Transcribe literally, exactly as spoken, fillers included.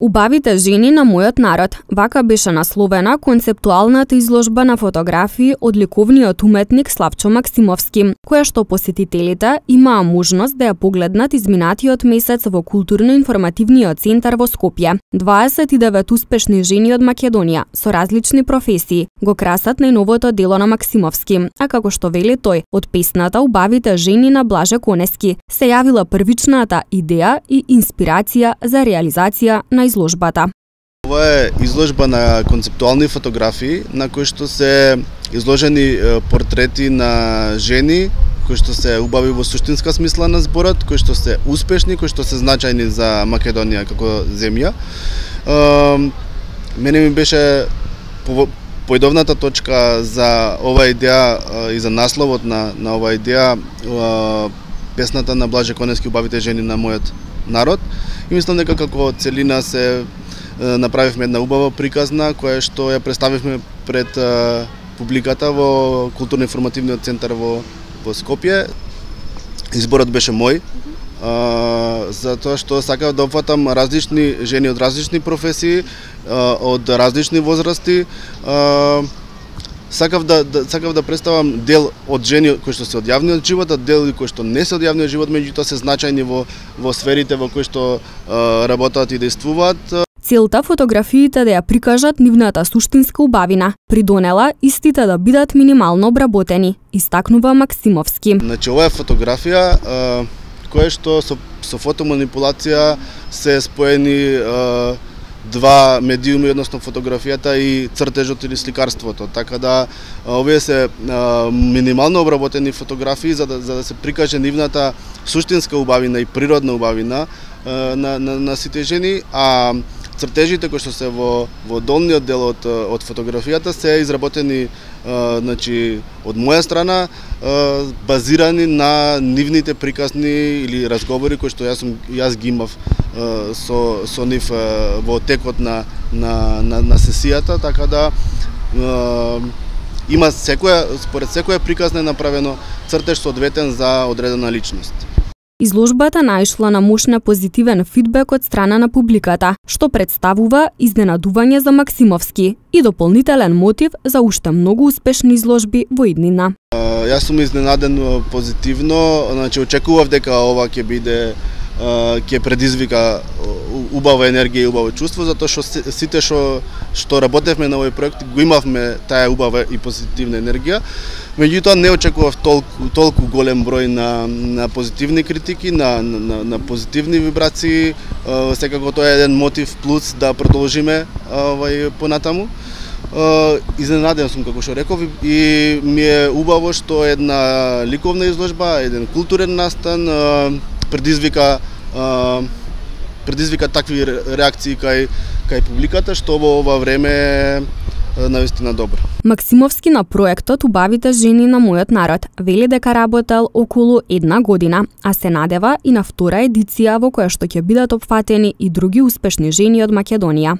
Убавите жени на мојот народ. Вака беше насловена концептуалната изложба на фотографии од ликовниот уметник Славчо Максимовски, која што посетителите имаа можност да ја погледнат изминатиот месец во културно-информативниот центар во Скопје. дваесет и девет успешни жени од Македонија со различни професии го красат најновото дело на Максимовски, а како што вели тој, од песната Убавите жени на Блаже Конески се јавила првичната идеја и инспирација за реализација на изложбата. Ова е изложба на концептуални фотографии на кои што се изложени портрети на жени кои што се убави во суштинска смисла на зборот, кои што се успешни, кои што се значајни за Македонија како земја. Мене ми беше поидовната точка за ова идеја и за насловот на на ова идеја песната на Блаже Конески Убавите жени на мојот народ. И мислам дека како целина се направивме една убава приказна која што ја представивме пред публиката во културно-информативниот центар во во Скопје. Изборот беше мој, а, затоа што сакав да опфатам различни жени од различни професии, а, од различни возрасти. А, Сакав да, да сакав да представам дел од жени кои што се од јавниот живот, а дел кои што не се од јавниот живот, меѓутоа се значајни во во сферите во кои што а, работат и действуваат. Целта фотографиите да ја прикажат нивната суштинска убавина, придонела истите да бидат минимално обработени, истакнува Максимовски. Значи ова е фотографија а, која што со, со фотоманипулација се споени а, два медиуми, односно фотографијата и цртежот или сликарството. Така да овие се а, минимално обработени фотографии за да, за да се прикаже нивната суштинска убавина и природна убавина а, на, на, на сите жени, а цртежите кои што се во во долниот дел од од фотографијата се изработени а, значи од моја страна а, базирани на нивните приказни или разговори кои што јас сум јас ги имав а, со со нив а, во текот на на на, на сесијата, така да а, има секоја според секоја приказна е направено цртеж соодветен за одредена личност. Изложбата наишла на мощна позитивен фидбек од страна на публиката, што представува изненадување за Максимовски и дополнителен мотив за уште многу успешни изложби во иднина. Јас сум изненаден позитивно, значи очекував дека ова ќе биде ќе предизвика убава енергија и убаво чувство, затоа што сите што што работевме на овој проект го имавме таа убава и позитивна енергија. Меѓутоа не очекував толку толку голем број на на позитивни критики, на на на позитивни вибрации. Секако тоа е еден мотив плюс да продолжиме овај понатаму. Изненаден сум, како што реков, и ми е убаво што една ликовна изложба, еден културен настан предизвика предизвика такви реакции кај кај публиката, што во ова време е навистина добро. Максимовски на проектот Убавите жени на мојот народ вели дека работел околу една година, а се надева и на втора едиција во која што ќе бидат опфатени и други успешни жени од Македонија.